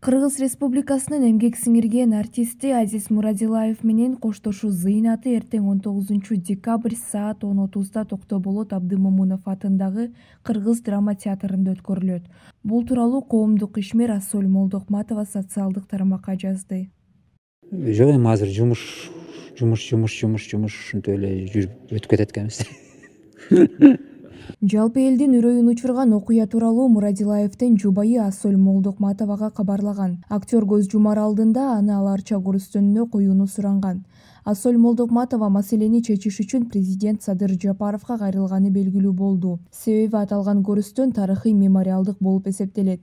Кыргыз Республикасынын эмгек сиңирген артисти Азиз Мурадилаев менен коштошуу зыйнаты эртең 19 декабрь саат 10:30 Токтоболот Абдымомунов атындагы Кыргыз драма театрында өткөрүлөт. Бул тууралуу коомдук ишмер Ассоль Молдокматова социалдык тармакка жазды. Жок, эми азыр жумуш ушинтип эле жүрүп өтүп кетет экенбиз. Жалпы элдин үрөйүн учурган окуя тууралуу Мурадилаевдин жубайы Ассоль Молдокматовага кабарлаган. Актер көз жумар алдында аны аларча көрүстөнүнө коюуну суранган. Ассоль Молдокматова маселени чечиш үчүн президент Садыр Жапаровго кайрылганы белгилүү болду. Себеби аталган көрүстөн тарыхый мемориалдык болуп эсептелет.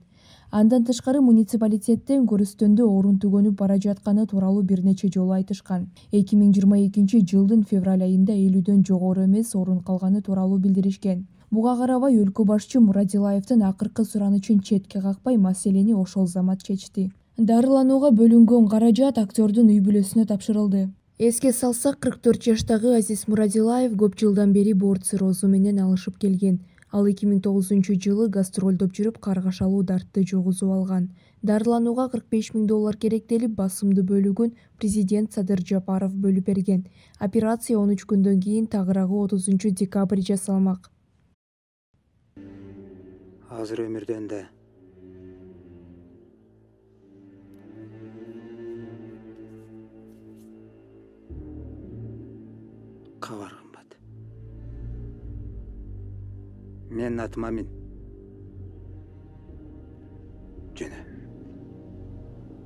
Андан тышкары муниципалитеттен көрүстөндө орун түгөнүп бара жатканы тууралуу бир нече жолу айтышкан. 2022-жылдын февраль айында 50дөн жогору эмес орун калганы тууралуу билдиришкен. Буга карабай өлкө башчы Мурадилаевдин акыркы суранычын четке какпай маселени ошол замат чечти. Дарыланууга бөлүнгөн каражат актердун үй бүлөсүнө тапшырылды. Эске салсак, 44 жаштагы Азиз Мурадилаев көп жылдан бери боорут циррозу менен алышып келген. Ал 2009-жылы гастролдоп жүрүп каргашалуу дартты жугузуп алган. Дарыланууга $45,000 керектелип, басымдуу бөлүгүн президент Садыр Жапаров бөлүп берген. Операция 13 күндөн кийин тагыраагы 30 декабрь жасалмак. Азыр өмүрдөн да кабар кымбат. Менин атым Амин.